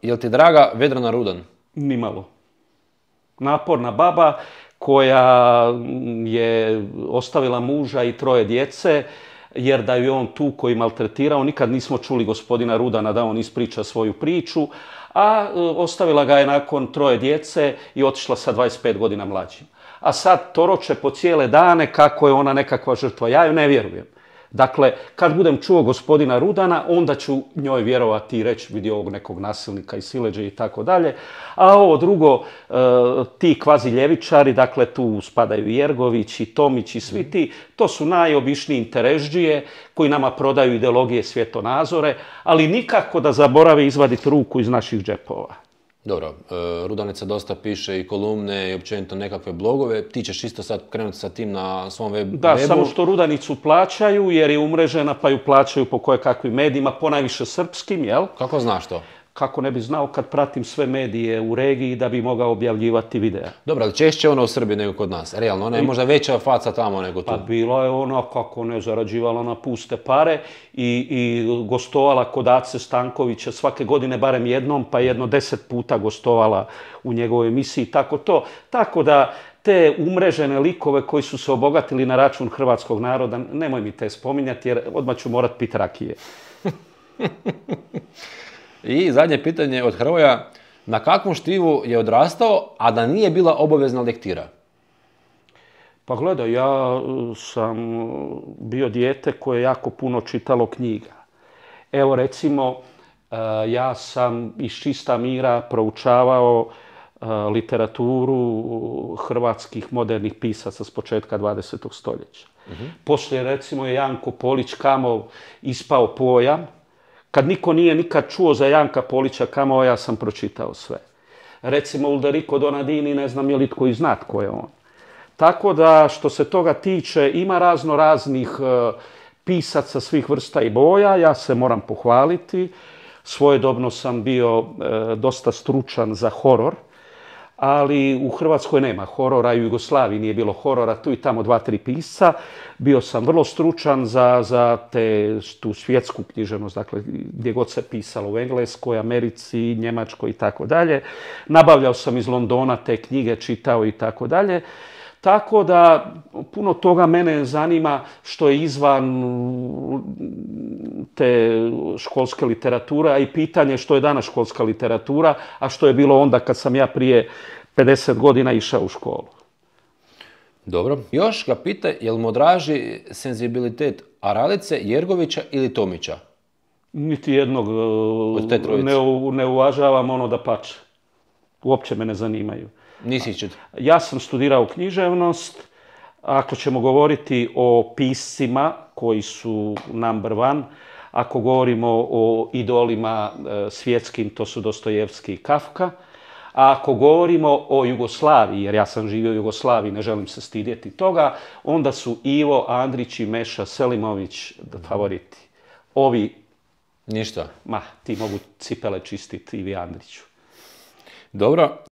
Jel ti draga Vedrana Rudan? Nimalo. Naporna baba koja je ostavila muža i 3 djece, jer da ju on tu koji maltretirao, nikad nismo čuli gospodina Rudana da on ispriča svoju priču, a ostavila ga je nakon 3 djece i otišla sa 25 godina mlađim. A sad toroče po cijele dane kako je ona nekakva žrtva. Ja ju ne vjerujem. Dakle, kad budem čuo gospodina Rudana, onda ću njoj vjerovati i reći vidi ovog nekog nasilnika i siledže i tako dalje. A ovo drugo, ti kvazi ljevičari, dakle tu spadaju Jergović i Tomić i svi ti, to su najobičniji interežđije koji nama prodaju ideologije, svjetonazore, ali nikako da zaborave izvaditi ruku iz naših džepova. Dobro, Rudanica dosta piše i kolumne i općenito nekakve blogove. Ti ćeš isto sad krenuti sa tim na svom webu? Da, samo što Rudanicu plaćaju jer je umrežena pa ju plaćaju po kojekakvim medijima, ponajviše srpskim, jel? Kako znaš to? Kako ne bi znao kad pratim sve medije u regiji da bi mogao objavljivati videa. Dobro, ali češće ona u Srbiji nego kod nas. Realno, ona je možda veća faca tamo nego tu. Pa bilo je ona, kako ne, zarađivala na puste pare i gostovala kod Ace Stankovića svake godine barem jednom, pa jedno 10 puta gostovala u njegovoj emisiji, tako to. Tako da te umrežene likove koji su se obogatili na račun hrvatskog naroda, nemoj mi te spominjati jer odmah ću morat pit rakije. I zadnje pitanje od Hrvoja. Na kakvom štivu je odrastao, a da nije bila obavezna lektira? Pa gledaj, ja sam bio dijete koje je jako puno čitalo knjiga. Evo recimo, ja sam iz čista mira proučavao literaturu hrvatskih modernih pisaca s početka 20. stoljeća. Poslije recimo je Janko Polić Kamov ispao pojam. Kad niko nije nikad čuo za Janka Polića Kamova, ja sam pročitao sve. Recimo Ulderico Donadini, ne znam je li tko i zna tko je on. Tako da, što se toga tiče, ima razno raznih pisaca svih vrsta i boja, ja se moram pohvaliti. Svojedobno sam bio dosta stručan za horor, ali u Hrvatskoj nema horora i u Jugoslaviji nije bilo horora, tu i tamo 2-3 pisca. Bio sam vrlo stručan za tu svjetsku književnost, dakle gdje god se pisalo u Engleskoj, Americi, Njemačkoj i tako dalje. Nabavljao sam iz Londona te knjige, čitao i tako dalje. Tako da puno toga mene zanima što je izvan te školske literature, a i pitanje što je danas školska literatura, a što je bilo onda kad sam ja prije 50 godina išao u školu. Dobro. Još ga pita, jel mu draži senzibilitet Aralice, Jergovića ili Tomića? Niti jednog ne uvažavam, ono da pače. Uopće me ne zanimaju. Ja sam studirao književnost. Ako ćemo govoriti o piscima koji su number one, ako govorimo o idolima svjetskim, to su Dostojevski i Kafka. A ako govorimo o Jugoslaviji, jer ja sam živio u Jugoslaviji, ne želim se stidjeti toga, onda su Ivo Andrić i Meša Selimović favoriti. Ovi... Ništa. Ma, ti mogu cipele čistiti, Ivi Andriću. Dobro.